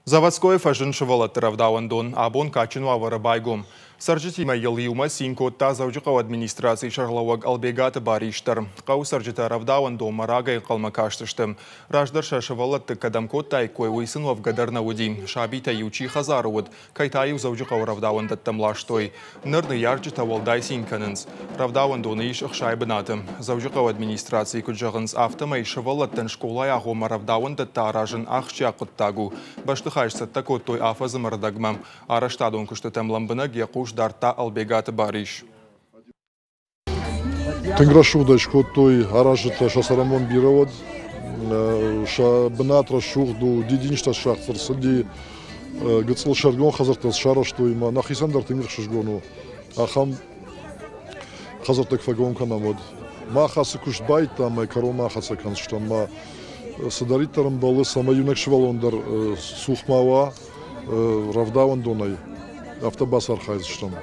Заводскойы фӕзынд сывӕллӕтты рӕвдауӕндон. Абон кадджын уавӕры байгом. Цӕрджытимӕ йыл иумӕ цин кодта Дзӕуджыхъӕуы администрацийы сӕргълӕууӕг Ӕлбегаты Барис дӕр. Хъӕуы цӕрджытӕ рӕвдауӕндонмӕ рагӕй ӕнхъӕлмӕ кастысты. Раздӕр сӕ сывӕллӕтты кӕдӕм кодтаиккой, уый сын уӕвгӕ дӕр нӕ уыди. Сабитӕ-иу чи хӕдзары уыд, кӕй та-иу Дзӕуджыхъӕуы рӕвдауӕндӕттӕм ластой. Ныр ныййарджытӕ уӕлдай цин кӕнынц. Рӕвдауӕндоны ис 60 бынаты. Дзӕуджыхъӕуы администрацийы куыд зӕгъынц, афтӕмӕй сывӕллӕттӕн скъолайы агъоммӕ рӕвдауӕндӕттӕ аразын ахсджиаг хъуыддаг у. Бӕстыхай сцӕттӕ кодтой афӕдзы ӕрдӕгмӕ. Арӕзтадон куыстытӕм лӕмбынӕг йӕ хъус дардта Ӕлбегаты Барис. Тынг рӕсугъдӕй скодтой аразджытӕ, сӕ цӕрӕнбон бирӕ уӕд. Сӕ бынат рӕсугъд у, дидинджытӕ сагъд ӕрцыди, гыццыл сӕргон хӕдзӕрттӕ сарӕзтой ӕмӕ нӕхицӕн дӕр тынг ӕхсызгон у, ахӕм хӕдзӕрттӕ куы фӕгом кӕнӕм, уӕд. Мах ацы куыст баидтам ӕмӕ кӕронмӕ ахӕццӕ кӕндзыстӕм ӕмӕ цыдӕриддӕр ӕмбӕлы, цӕмӕй иунӕг сывӕллон дӕр цух ма уа рӕвдауӕндонӕй, афтӕ бацархайдзыстӕм.